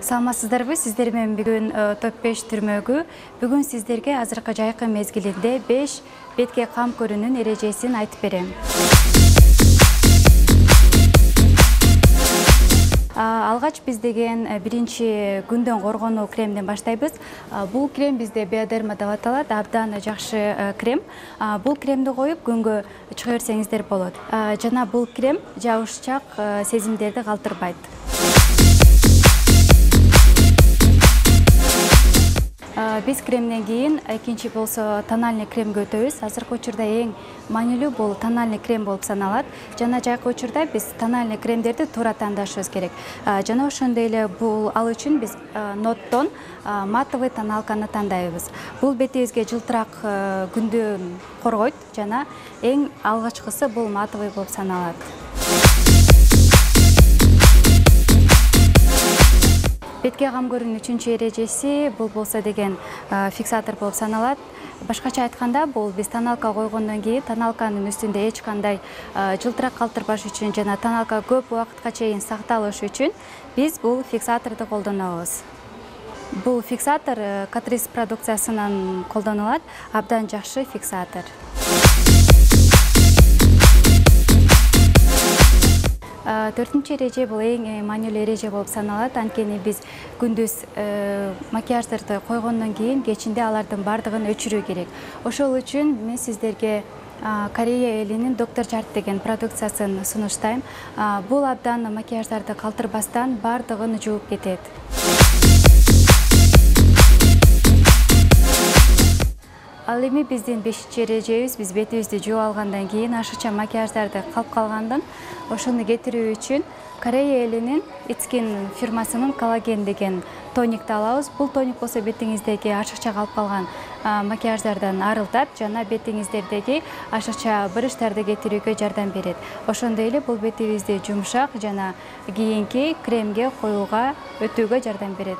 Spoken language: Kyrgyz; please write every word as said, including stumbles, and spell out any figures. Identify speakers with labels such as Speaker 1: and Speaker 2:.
Speaker 1: Саламатсыздарбы, сиздер менен бүгүн топ беш түрмөгү. Бүгүн сиздерге азыркы жайкы мезгилинде беш бетке кам көрүүнүн эрежесин айтып берем. Алгач биз деген биринчи күндөн коргонуу кремден баштайбыз. Бул крем бизде Биодерма деп аталат, абдан жакшы крем. Бул кремди коюп күнгө чыга берсеңиздер болот. Жана бул крем жабышчак сезимдерди калтырбайт. Биз кремден кийин экинчи болсо тональный кремге өтөбүз. Азыркы учурда эң маанилүү бул тональный крем болуп саналат. Жана жайкы учурда биз тональный кремдерди туура тандашыбыз керек. Жана ошондой эле бул ал үчүн биз Ноттон матовый тоналканы тандайбыз. Бул бетибизге жылтырак күндөн коргойт жана эң алгачкысы бул матовый болуп саналат. Бетке кам көрүүнүн үчүнчү эрежеси бул болсо деген фиксатор болуп саналат. Башкача айтканда, бул биз тоналка койгондон кийин тоналканын үстүндө эч кандай жылтырак калтырбаш үчүн жана тоналка көп убакытка чейин сакталыш үчүн биз бул фиксаторду колдонобуз. Бул фиксатор Catrice продукциясынан колдонулат, абдан жакшы фиксатор. Төртүнчү эреже бул эң маанилүү эреже болуп саналат. Анткени биз күндүз макияждарды койгондон кийин кечинде алардын бардыгын өчүрүү керек. Ошол үчүн мен сиздерге Корея элинин Доктор Жart деген продукциясын сунуштайм. Бул абдан макияждарды калтырбастан бардыгын жууп кетет. Ал эми биздин бешинчи эрежебиз, биз бетибизди жууп алгандан кийин ашыкча макияждарды калып калгандан ошону кетирүү үчүн Корея элинин Itskin фирмасынын коллаген деген тоникти алабыз. Бул тоник болсо бетиңиздеги ашыкча калып калган макияждардан арылтат жана бетиңиздердеги ашыкча брыштарды кетирүүгө жардам берет. Ошондой эле бул бетибизди жумшак жана кийинки кремге коюуга өтүүгө жардам берет.